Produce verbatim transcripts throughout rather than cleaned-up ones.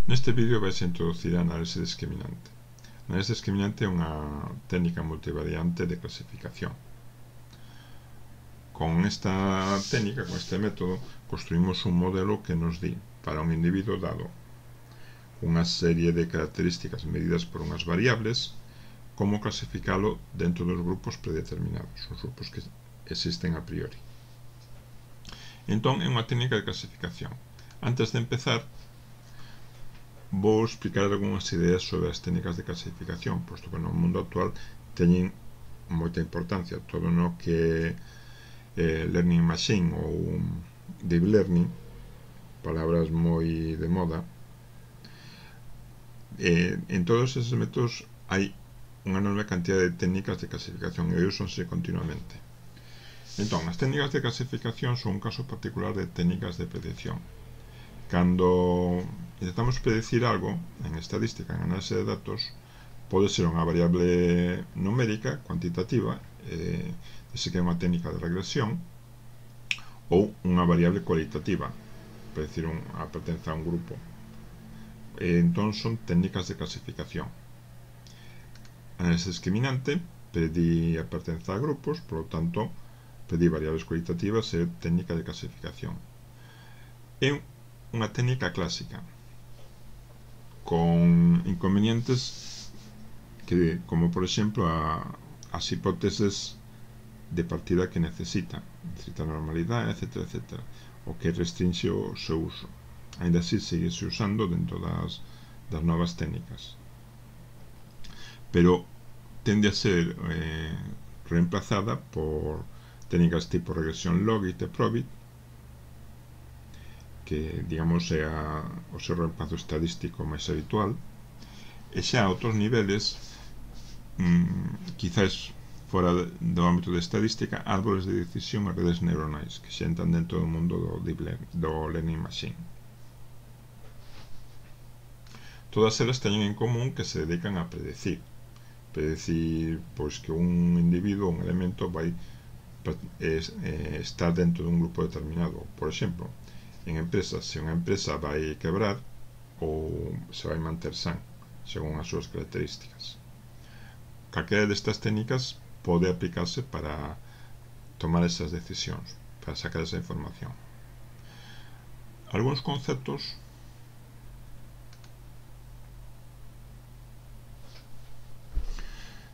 Neste vídeo vais a introducir a análise discriminante. A análise discriminante é unha técnica multivariante de clasificación. Con esta técnica, con este método, construímos un modelo que nos di, para un individuo dado, unha serie de características medidas por unhas variables, como clasificalo dentro dos grupos predeterminados, os grupos que existen a priori. Entón, é unha técnica de clasificación. Antes de empezar, vou explicar algunhas ideas sobre as técnicas de clasificación, posto que no mundo actual teñen moita importancia. Todo no que eh, Learning Machine ou Deep Learning, palabras moi de moda, eh, en todos esos métodos hai unha enorme cantidad de técnicas de clasificación e úsanse continuamente. Entón, as técnicas de clasificación son un caso particular de técnicas de predicción. Cando intentamos predecir algo en estadística, en análise de datos, pode ser unha variable numérica, cuantitativa, eh, ese que é unha técnica de regresión, ou unha variable cualitativa, predecir un, a pertenza a un grupo. E, entón son técnicas de clasificación. Análise discriminante, pedir a pertenza a grupos, por lo tanto, pedir variables cualitativas é técnica de clasificación. É unha técnica clásica con inconvenientes que, como por exemplo a, as hipóteses de partida que necesita, necesita normalidade, etcétera, etcétera, o que restringe o seu uso. Ainda así sigue se usando dentro das, das novas técnicas, pero tende a ser eh, reemplazada por técnicas tipo regresión logit e probit, que, digamos, é a, o seu reemplazo estadístico máis habitual, e xa a outros niveles, mmm, quizás fora do ámbito de estadística, árbores de decisión e redes neuronais, que xa entran dentro do mundo do, deep learning, do Learning Machine. Todas elas teñen en común que se dedican a predecir. Predecir, pois, que un individuo, un elemento, vai es, eh, estar dentro dun grupo determinado. Por exemplo, en empresas, se unha empresa vai quebrar ou se vai manter san, según as súas características. Calquera destas técnicas pode aplicarse para tomar esas decisións, para sacar esa información. Algúns conceptos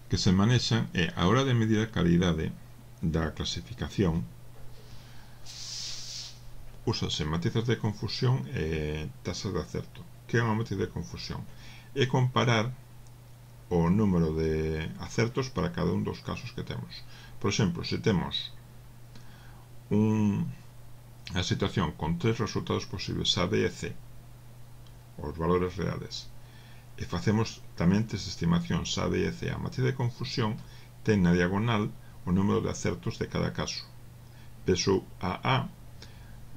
que se manexan é a hora de medir a calidade da clasificación. Úsase matizas de confusión e tasas de acerto. Que é unha matiz de confusión? É comparar o número de acertos para cada un dos casos que temos. Por exemplo, se temos un, a situación con tres resultados posibles, A, B e C, os valores reales, e facemos tamén tres estimacións A, B e C, a matiz de confusión ten na diagonal o número de acertos de cada caso. Peso a A,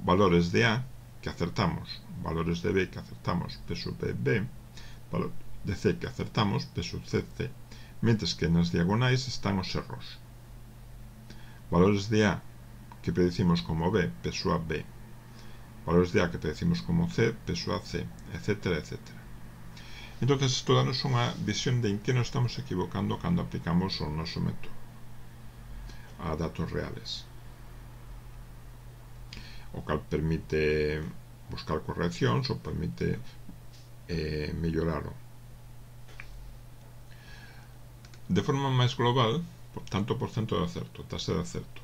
valores de A que acertamos, valores de B que acertamos, peso B, B, valor de C que acertamos, peso C, C, mentres que nas diagonais están os erros. Valores de A que predicimos como B, peso A, B, valores de A que predicimos como C, peso A, C, etcétera, etcétera. Entón, isto danos unha visión de en que nos estamos equivocando cando aplicamos o noso método a datos reales, o cal permite buscar correccións ou permite eh, melloralo. De forma máis global, tanto por cento de acerto, tasa de acerto,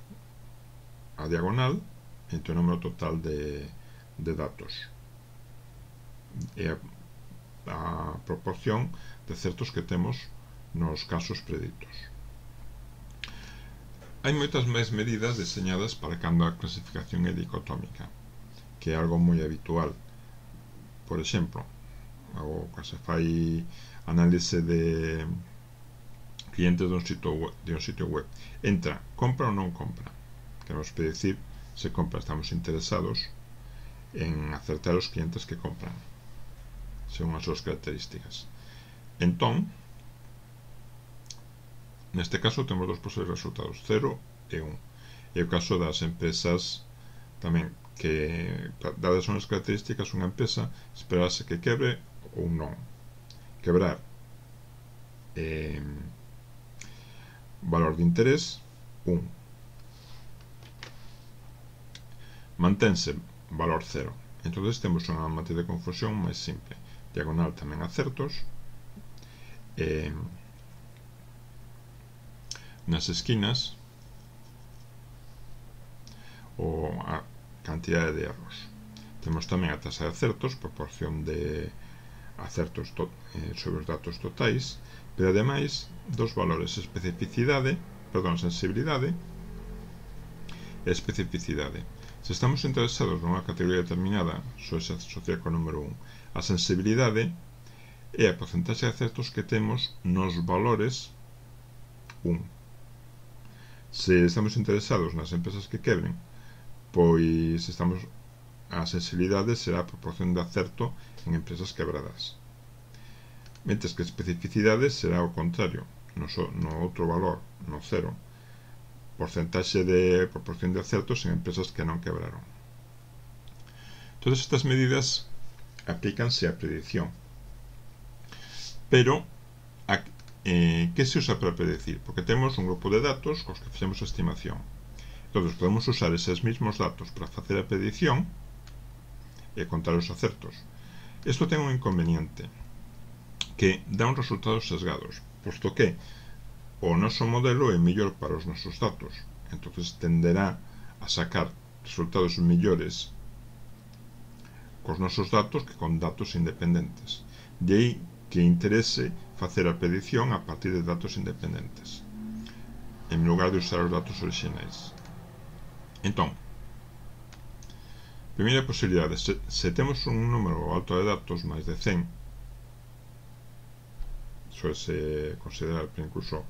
a diagonal entre o número total de, de datos e a, a proporción de acertos que temos nos casos preditos. Hai moitas máis medidas deseñadas para cando a clasificación é dicotómica, que é algo moi habitual. Por exemplo, o que se fai análise de clientes de un sitio web, de un sitio web. Entra, compra ou non compra. Queremos predecir se compra. Estamos interesados en acertar os clientes que compran, según as súas características. Entón, neste caso temos dos posibles resultados, cero e un. E o caso das empresas tamén, que dadas as características, unha empresa esperase que quebre ou non. Quebrar, eh, valor de interés, un. Mantense, valor cero. Entonces temos unha matriz de confusión máis simple. Diagonal tamén acertos, eh, nas esquinas o a cantidade de erros. Temos tamén a taxa de acertos, proporción de acertos to, eh, sobre os datos totais, pero ademais dos valores especificidade, perdón, sensibilidade e especificidade. Se estamos interesados nunha categoría determinada, só se asocia co número un. A sensibilidade é a porcentaxe de acertos que temos nos valores un. Se estamos interesados nas empresas que quebren, pois estamos a sensibilidade será a proporción de acerto en empresas quebradas. Mentres que a especificidade será o contrario, no, so, no outro valor, no cero, porcentaxe de proporción de acertos en empresas que non quebraron. Todas estas medidas aplícanse á predicción. Pero, a, eh, que se usa para predecir? Porque temos un grupo de datos cos que fixemos a estimación. Entón, podemos usar eses mismos datos para facer a predicción e contar os acertos. Isto ten un inconveniente, que dá uns resultados sesgados, posto que o noso modelo é mellor para os nosos datos, entonces tenderá a sacar resultados mellores cos nosos datos que con datos independentes. De aí que interese facer a predicción a partir de datos independentes, en lugar de usar os datos orixinais. Entón, primeira posibilidade, se, se temos un número alto de datos, máis de cen, suele considerar incluso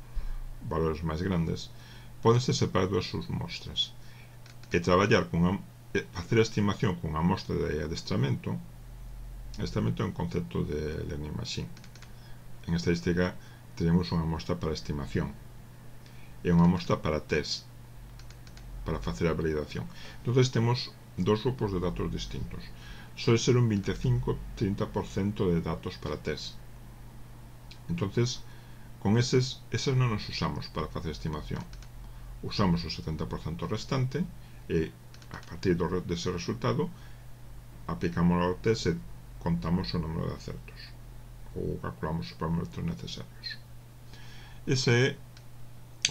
valores máis grandes, pódense separar dúas submostras e traballar con a, facer a estimación con unha mostra de adestramento. Adestramento é un concepto de learning machine. En estadística tenemos unha mostra para estimación e unha mostra para test, para facer a validación. Entonces temos dos grupos de datos distintos. Suele ser un veinticinco a treinta por ciento de datos para test. Entonces, con eses, eses non nos usamos para facer estimación. Usamos o setenta por ciento restante e, a partir do, dese resultado, aplicamos ao test e contamos o número de acertos ou calculamos os parámetros necesarios. Esa é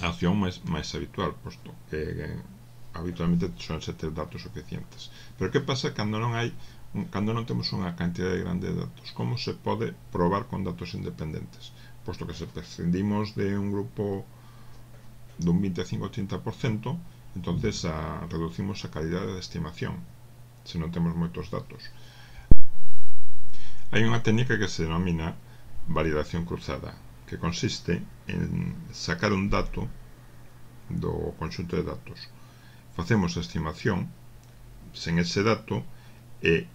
a acción máis, máis habitual, posto que, que habitualmente son ser ter datos suficientes. Pero que pasa cando non hai cando non temos unha cantidade grande de datos? Como se pode probar con datos independentes? Posto que se prescindimos de un grupo dun veinticinco a trinta por ciento, entonces a, reducimos a calidade de estimación se non temos moitos datos. Hai unha técnica que se denomina validación cruzada, que consiste en sacar un dato do conxunto de datos. Facemos a estimación sen ese dato e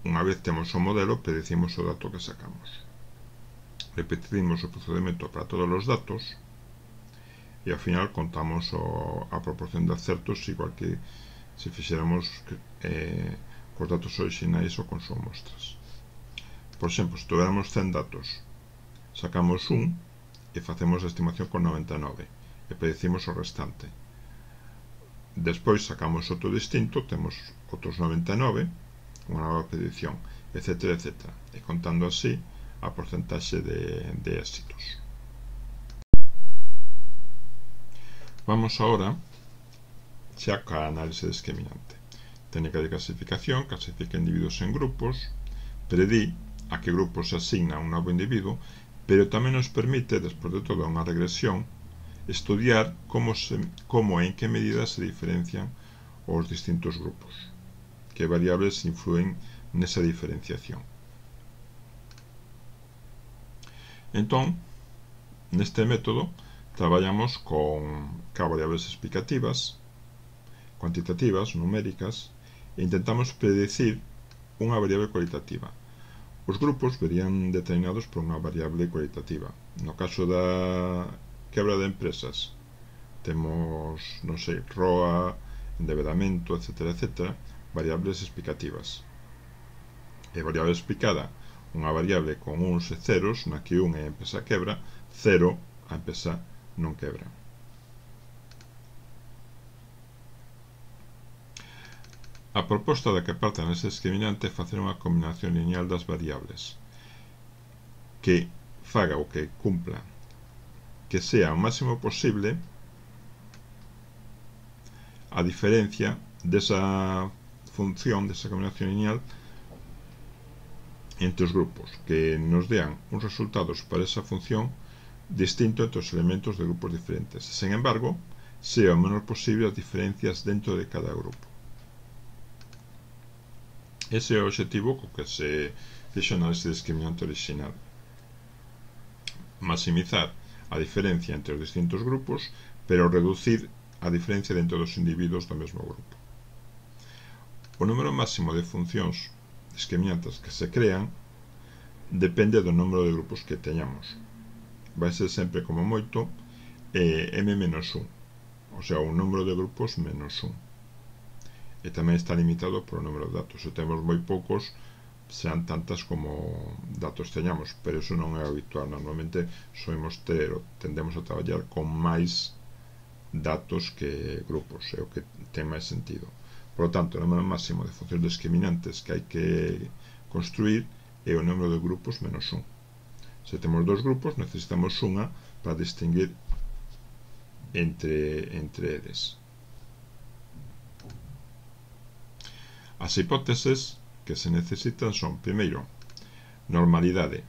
unha vez temos o modelo predicimos o dato que sacamos. Repetimos o procedimento para todos os datos e ao final contamos o, a proporción de acertos igual que se fixéramos eh, cos datos orixinais ou con súas mostras. Por exemplo, se tuveramos cen datos, sacamos un e facemos a estimación con noventa e nove e predicimos o restante. Despois sacamos outro distinto, temos outros noventa e nove, unha nova predicción, etcétera, etcétera, e contando así a porcentaxe de, de éxitos. Vamos agora xa ca análise discriminante. Técnica de clasificación, clasifica individuos en grupos, predí a que grupo se asigna a un novo individuo, pero tamén nos permite, despois de toda unha regresión, estudiar como, se, como e en que medida se diferencian os distintos grupos, que variables influen nesa diferenciación. Entón, neste método traballamos con ca variables explicativas, cuantitativas, numéricas, e intentamos predecir unha variable cualitativa. Os grupos verían determinados por unha variable cualitativa. No caso da quebra de empresas, temos, non sei, R O A, endeudamento, etcétera, etcétera, variables explicativas. E variable explicada, unha variable con uns e ceros na que un é a empresa quebra, cero a empresa non quebra. A proposta da que parta nese discriminante é facer unha combinación lineal das variables que faga o que cumpla que sea o máximo posible a diferencia desa función, desa combinación lineal entre os grupos, que nos dean uns resultados para esa función distinto entre os elementos de grupos diferentes. Sen embargo, sea o menor posible as diferencias dentro de cada grupo. Ese é o objetivo co que se fixo nese discriminante original. Maximizar a diferencia entre os distintos grupos, pero reducir a diferencia dentro dos individuos do mesmo grupo. O número máximo de funcións discriminantes que se crean depende do número de grupos que teñamos. Vai ser sempre como moito eh, m menos un, o sea, un número de grupos menos un. E tamén está limitado por o número de datos. Se temos moi poucos, serán tantas como datos teñamos, pero iso non é habitual. Normalmente soimos ter, tendemos a traballar con máis datos que grupos, é o que ten máis sentido. Por lo tanto, o número máximo de funcións discriminantes que hai que construir é o número de grupos menos un. Se temos dos grupos, necesitamos unha para distinguir entre, entre eles. As hipóteses que se necesitan son, primeiro, normalidade.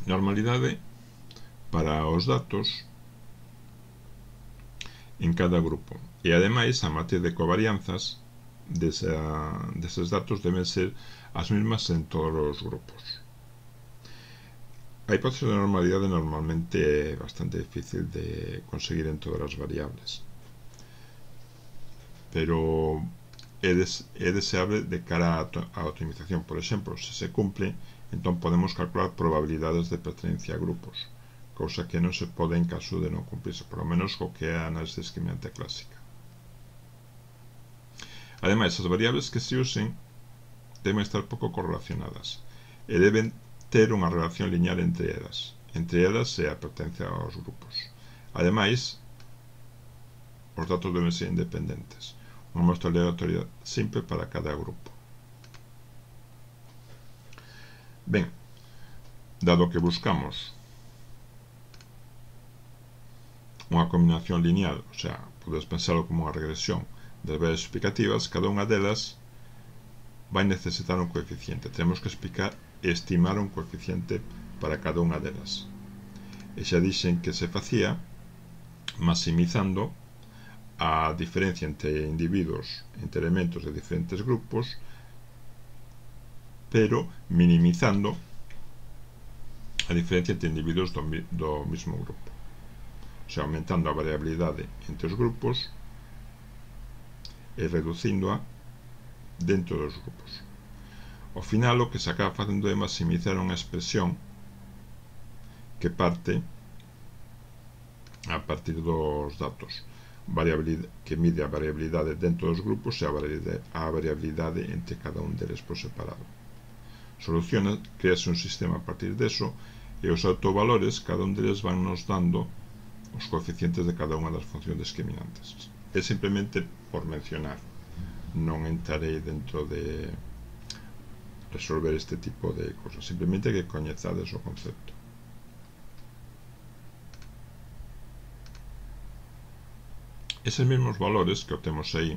Normalidade para os datos en cada grupo. E, ademais, a matriz de covarianzas desa, deses datos deben ser as mesmas en todos os grupos. A hipótese de normalidade normalmente é bastante difícil de conseguir en todas as variables, pero é, des, é deseable de cara á optimización. Por exemplo, se se cumple, entón podemos calcular probabilidades de pertenencia a grupos, cousa que non se pode en caso de non cumplirse, por lo menos co que é a análise discriminante clásica. Ademais, as variables que se usen deben estar pouco correlacionadas e deben ter unha relación lineal entre elas. Entre elas é a pertenencia aos grupos. Ademais, os datos deben ser independentes. Unha mostra aleatoria simple para cada grupo. Ben, dado que buscamos unha combinación lineal, o sea, podes pensarlo como unha regresión das variables explicativas, cada unha delas vai necesitar un coeficiente. Temos que explicar e estimar un coeficiente para cada unha delas. E xa dixen que se facía maximizando a diferencia entre individuos, entre elementos de diferentes grupos, pero minimizando a diferencia entre individuos do, do mismo grupo. O sea, aumentando a variabilidade entre os grupos e reducíndoa dentro dos grupos. Ao final, o que se acaba facendo é maximizar unha expresión que parte a partir dos datos, que mide a variabilidade dentro dos grupos e a variabilidade, a variabilidade entre cada un deles por separado. Soluciona, crease un sistema a partir deso, e os autovalores, cada un deles van nos dando os coeficientes de cada unha das funcións discriminantes. É simplemente por mencionar, non entrarei dentro de resolver este tipo de cosas, simplemente que coñezades o concepto. Eses mesmos valores que obtemos aí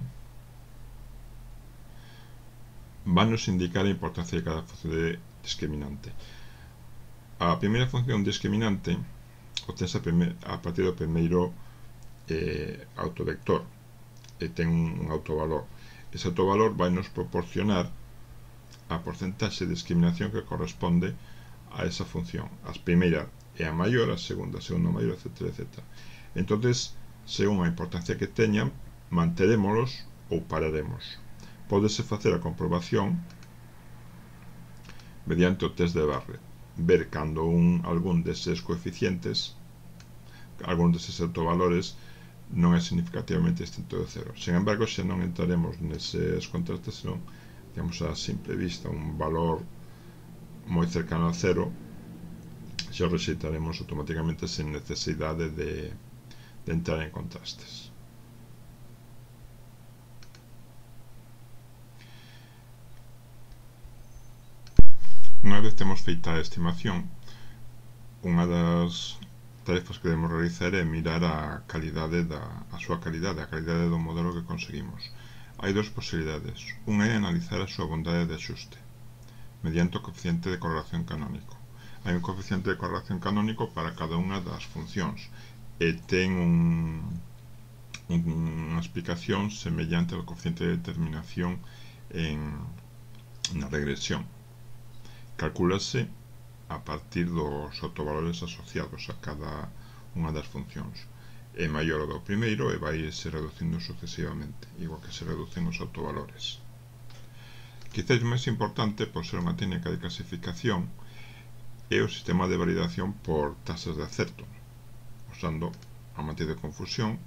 van nos indicar a importancia de cada función de discriminante. A primeira función discriminante obtense a partir do primeiro eh, autovector e ten un autovalor. Ese autovalor vai nos proporcionar a porcentaxe de discriminación que corresponde a esa función. A primeira é a maior, a segunda a segunda maior, etcétera, etcétera. Entonces, según a importancia que teñan, manterémolos ou pararemos. Pódese facer a comprobación mediante o test de Barrett, ver cando un, algún deses coeficientes, algún deses autovalores non é significativamente distinto de cero. Sen embargo, xa non entraremos neses contrastes, senón temos a simple vista un valor moi cercano a cero, xa o rexeitaremos automáticamente sen necesidade de, de entrar en contrastes. Unha vez temos feita a estimación, unha das tarefas que debemos realizar é mirar a calidade da a súa calidade, a calidade do modelo que conseguimos. Hai dúas posibilidades. Unha é analizar a súa bondade de axuste mediante o coeficiente de correlación canónico. Hai un coeficiente de correlación canónico para cada unha das funcións e ten un, un, unha explicación semellante ao coeficiente de determinación en, na regresión. Calcúlase a partir dos autovalores asociados a cada unha das funcións. É maior o do primeiro e vai se reducindo sucesivamente, igual que se reducen os autovalores. Quizás máis importante, por ser unha técnica de clasificación, é o sistema de validación por tasas de acerto, usando a matriz de confusión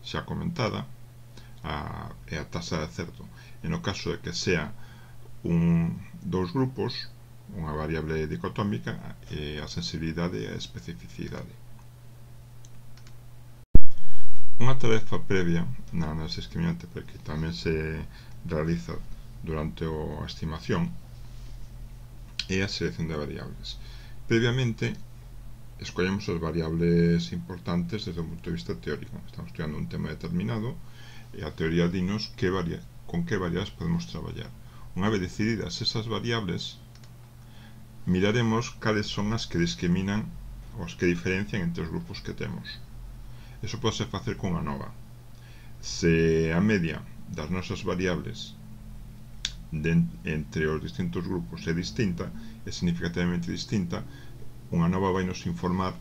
xa comentada a, e a tasa de acerto. En o caso de que sea un, dous grupos, unha variable dicotómica, e a sensibilidade e a especificidade. Unha tarefa previa na análise discriminante, porque tamén se realiza durante a estimación, é a selección de variables. Previamente, escollemos as variables importantes desde o punto de vista teórico. Estamos estudiando un tema determinado e a teoría dinos que varia, con que variables podemos traballar. Unha vez decididas esas variables, miraremos cales son as que discriminan ou as que diferencian entre os grupos que temos. Eso pode facer con unha nova. Se a media das nosas variables de, entre os distintos grupos é distinta, é significativamente distinta, unha nova vai nos informar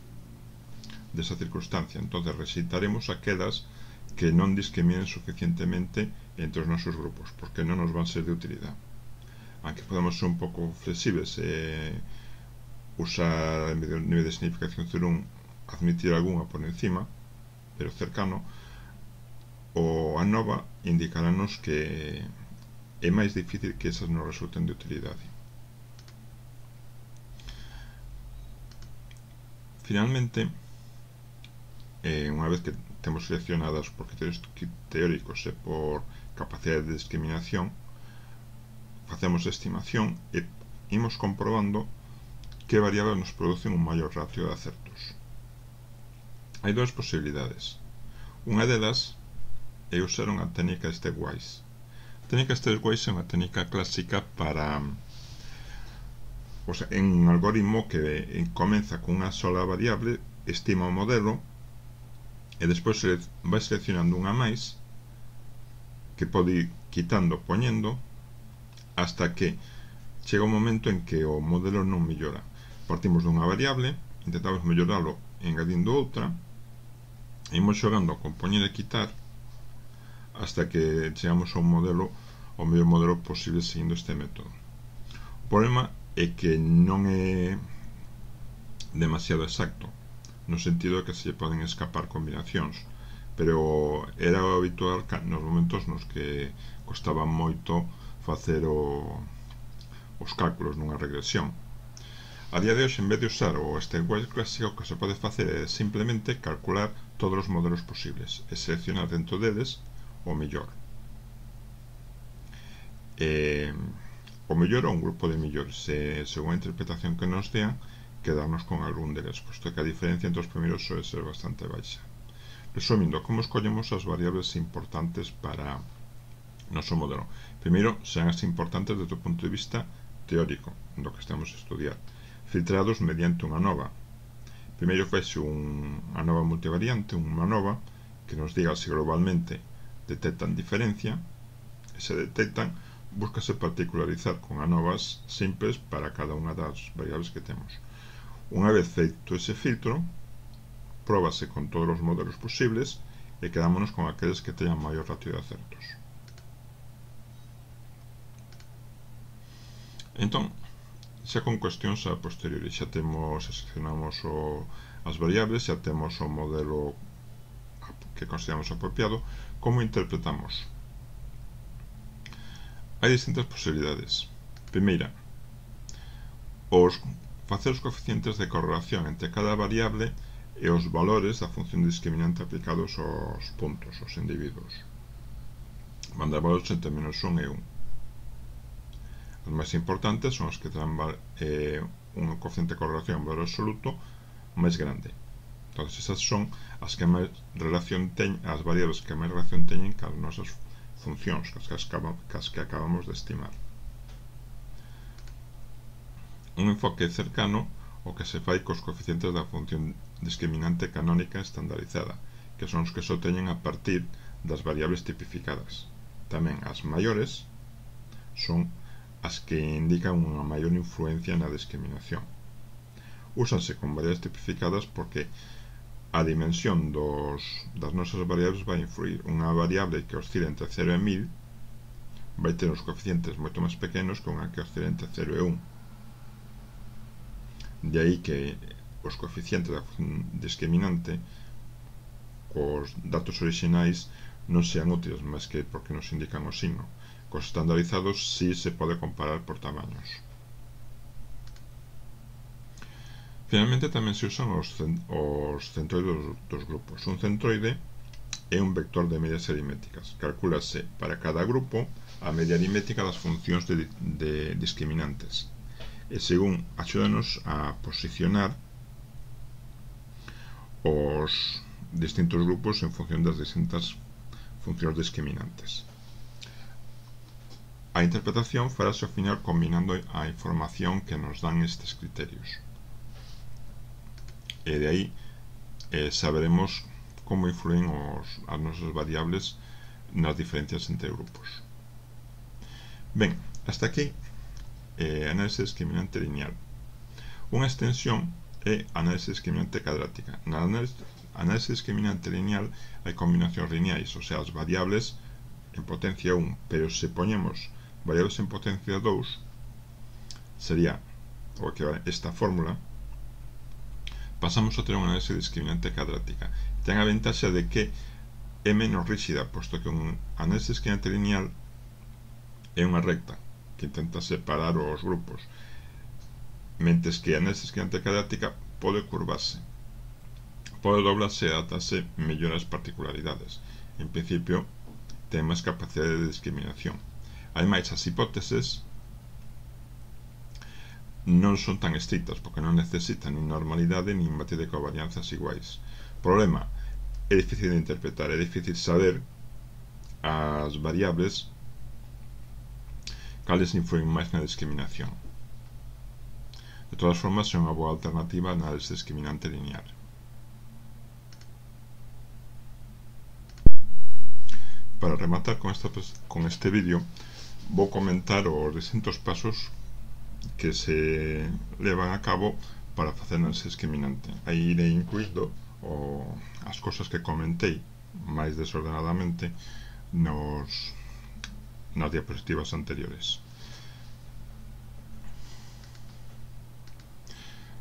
desa circunstancia. Entón, rexeitaremos aquelas que non discriminen suficientemente entre os nosos grupos, porque non nos van ser de utilidade. Aunque podemos ser un pouco flexibles e usar en vez de nivel de significación cero un admitir algunha por encima, pero cercano, o a nova indicarános que é máis difícil que esas non resulten de utilidade. Finalmente, eh, unha vez que temos seleccionadas por criterios teóricos e por capacidade de discriminación, facemos a estimación e imos comprobando que variables nos producen un maior ratio de acertos. Hai dúas posibilidades. Unha delas é usar unha técnica stepwise. A técnica stepwise é unha técnica clásica para, o sea, en un algoritmo que comeza con unha sola variable, estima o modelo e despois vai seleccionando unha máis que pode ir quitando, poñendo, hasta que chega un momento en que o modelo non mellora. Partimos dunha variable, intentamos melloralo engadindo outra, e imos xogando con poñer e quitar hasta que chegamos a un modelo, o mellor modelo posible seguindo este método. O problema é que non é demasiado exacto, no sentido de que se poden escapar combinacións, pero era habitual nos momentos nos que costaba moito facer o, os cálculos nunha regresión. A día de hoxe, en vez de usar o stepwise clásico, o que se pode facer é simplemente calcular todos os modelos posibles e seleccionar dentro deles o mellor. E, o mellor é un grupo de mellores, e según a interpretación que nos dean, quedarnos con algún deles, posto que a diferencia entre os primeiros suele ser bastante baixa. Resumindo, como escollemos as variables importantes para o noso modelo? Primeiro, serán as importantes desde o punto de vista teórico do que estamos a estudiar, filtrados mediante unha nova. Primeiro faixe un, unha nova multivariante, unha nova que nos diga se globalmente detectan diferencia, e se detectan, búscase particularizar con anovas simples para cada unha das variables que temos. Unha vez feito ese filtro, próbase con todos os modelos posibles e quedámonos con aqueles que teñan maior ratio de acertos. Entón, xa con cuestións a posteriori, xa temos, seleccionamos o, as variables, xa temos o modelo que consideramos apropiado. Como interpretamos? hai distintas posibilidades. Primeira, os facer os coeficientes de correlación entre cada variable e os valores da función discriminante aplicados aos puntos, aos individuos. Mandar valores entre menos un e un. As máis importantes son as que terán eh, un coeficiente de correlación en valor absoluto máis grande. Entón, esas son as que máis relación teñen, as variables que máis relación teñen cas nosas funcións, cas que, cas que acabamos de estimar. Un enfoque cercano o que se fai cos coeficientes da función discriminante canónica estandarizada, que son os que se obteñen a partir das variables tipificadas. Tamén as maiores son as que indican unha maior influencia na discriminación. Úsanse con variables tipificadas porque a dimensión dos, das nosas variables vai influir. Unha variable que oscila entre cero e mil vai ter os coeficientes moito máis pequenos que unha que oscila entre cero e un. De aí que os coeficientes da función discriminante cos datos orixinais non sean útiles, máis que porque nos indican o signo. Cos estandarizados si se pode comparar por tamaños. Finalmente tamén se usan os, os centroides dos, dos grupos. Un centroide é un vector de medias aritméticas. Calcúlase para cada grupo a media aritmética das funcións de, de discriminantes. E según axúdanos a posicionar os distintos grupos en función das distintas funcións discriminantes. A interpretación farase ao final combinando a información que nos dan estes criterios. E de aí eh, saberemos como influen os, as nosas variables nas diferencias entre grupos. Ben, hasta aquí eh, análise discriminante lineal. Unha extensión é análise discriminante cadrática. Na análise, análise discriminante lineal hai combinacións lineais, o sea, as variables en potencia un, pero se poñemos variables en potencia dous, sería o que esta fórmula, pasamos a ter unha análise discriminante cadrática. Ten a ventaxa de que é menos rígida, posto que un análise discriminante lineal é unha recta que intenta separar os grupos, mentes que a análise discriminante cadrática pode curvarse, pode doblarse e adaptarse mellor ás particularidades. En principio, ten máis capacidade de discriminación. Ademais, as hipóteses non son tan estrictas porque non necesitan nin normalidade nin matriz de covarianzas iguais. Problema, é difícil de interpretar, é difícil saber as variables cales influen máis na discriminación. De todas formas, é unha boa alternativa a análise discriminante lineal. Para rematar con, esta, con este vídeo, vou comentar os distintos pasos que se levan a cabo para facer análise discriminante. Aí irei incluído o, as cosas que comentei máis desordenadamente nos, nas diapositivas anteriores.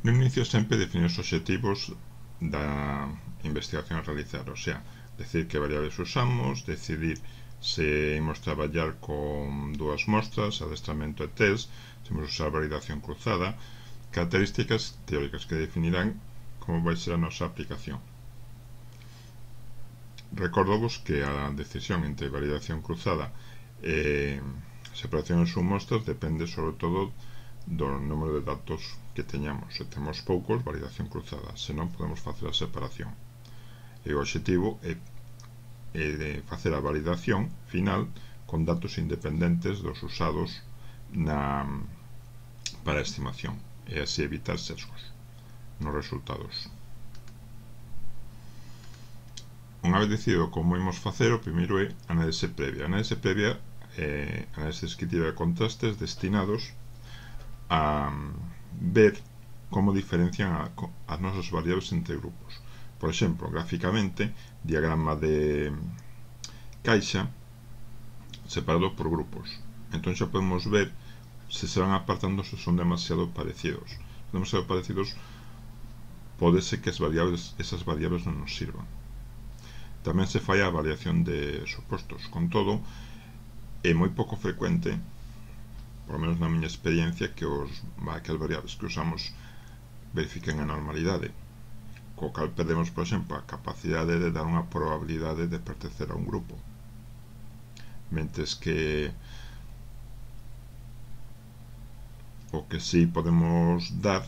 No inicio sempre definir os obxectivos da investigación a realizar, o sea, decidir que variables usamos, decidir se imos traballar con dúas mostras, adestramento e test, se imos usar validación cruzada, características teóricas que definirán como vai ser a nosa aplicación. Recordovos que a decisión entre validación cruzada e separación en submostras depende sobre todo do número de datos que teñamos. Se temos poucos, validación cruzada, se non podemos facer a separación. E o obxectivo é e de facer a validación final con datos independentes dos usados na, para a estimación e así evitar sesgos nos resultados. Unha vez decidido como imos facer, o primeiro é análise previa. A análise previa é análise descriptiva de contrastes destinados a ver como diferencian a, as nosas variables entre grupos. Por exemplo, gráficamente, diagrama de caixa separado por grupos. Entón xa podemos ver se se van apartando se son demasiado parecidos. Se son demasiado parecidos, pode ser que as variables, esas variables non nos sirvan. Tamén se fai a variación de supostos. Con todo, é moi pouco frecuente, por lo menos na miña experiencia, que os que as variables que usamos verifiquen a normalidade, co cal perdemos, por exemplo, a capacidade de dar unha probabilidade de pertencer a un grupo, mentres que o que sí podemos dar,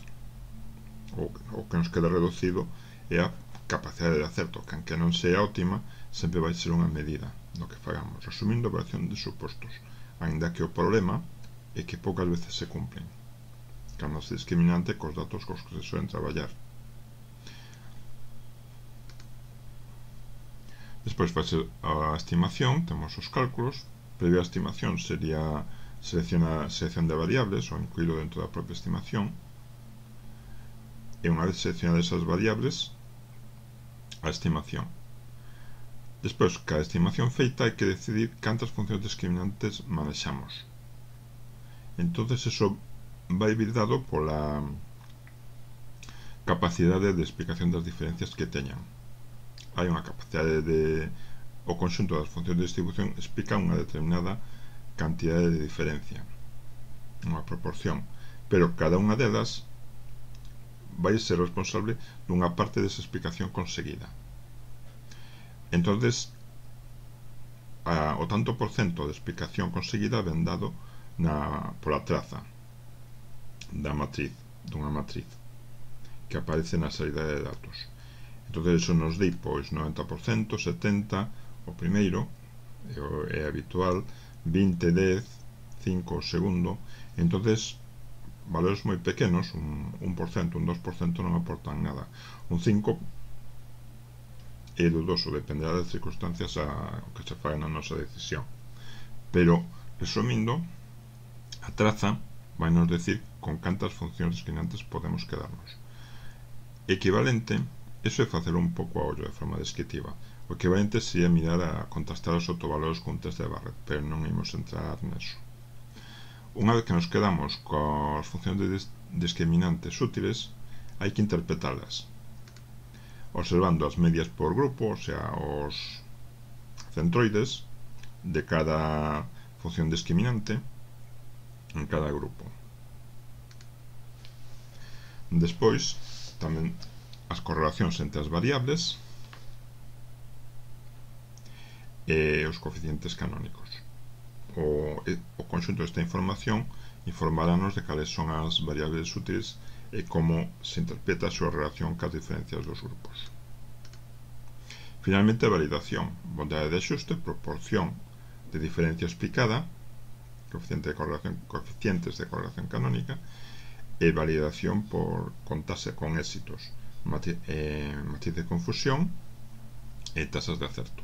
o, o que nos queda reducido, é a capacidade de acerto, que aunque non sea óptima, sempre vai ser unha medida do que fagamos. Resumindo, operación de supostos, aínda que o problema é que poucas veces se cumplen, cando se discriminante cos datos cos que se suelen traballar. Despois vai ser a estimación, temos os cálculos. Previa estimación sería seleccionar selección de variables ou incluílo dentro da propia estimación, e unha vez seleccionadas esas variables, a estimación. Despois, cada estimación feita, hai que decidir cantas funcións discriminantes manexamos. Entonces, eso vai vir dado pola capacidade de explicación das diferencias que teñan. Hai unha capacidade de... o conxunto das funcións de distribución explica unha determinada cantidade de diferencia, unha proporción, pero cada unha delas vai ser responsable dunha parte desa explicación conseguida. Entonces, a, o tanto por cento de explicación conseguida ven dado na, pola traza da matriz, dunha matriz que aparece na saída de datos. Entonces, eso nos di, pois, noventa por cento, setenta por cento o primeiro, é, é habitual, vinte, dez, cinco o segundo. Entonces, valores moi pequenos, un un por cento, un dos por cento non aportan nada. Un cinco por cento é dudoso, dependerá das circunstancias a que se faga na nosa decisión. Pero, resumindo, a traza vai nos decir con cantas funcións discriminantes podemos quedarnos. Equivalente, eso é facer un pouco a ollo de forma descriptiva. O equivalente sería mirar a contrastar os autovalores cun test de Barrett, pero non imos entrar neso. Unha vez que nos quedamos coas funcións de discriminantes útiles, hai que interpretalas, observando as medias por grupo, o sea, os centroides de cada función discriminante en cada grupo. Despois, tamén as correlacións entre as variables e os coeficientes canónicos. O, o conxunto desta información informarános de cales son as variables útiles e como se interpreta a súa relación cas diferencias dos grupos. Finalmente, a validación, bondade de axuste, proporción de diferencia explicada, coeficiente de correlación, coeficientes de correlación canónica, e validación por contarse con éxitos, matriz, eh, matriz de confusión e tasas de acerto.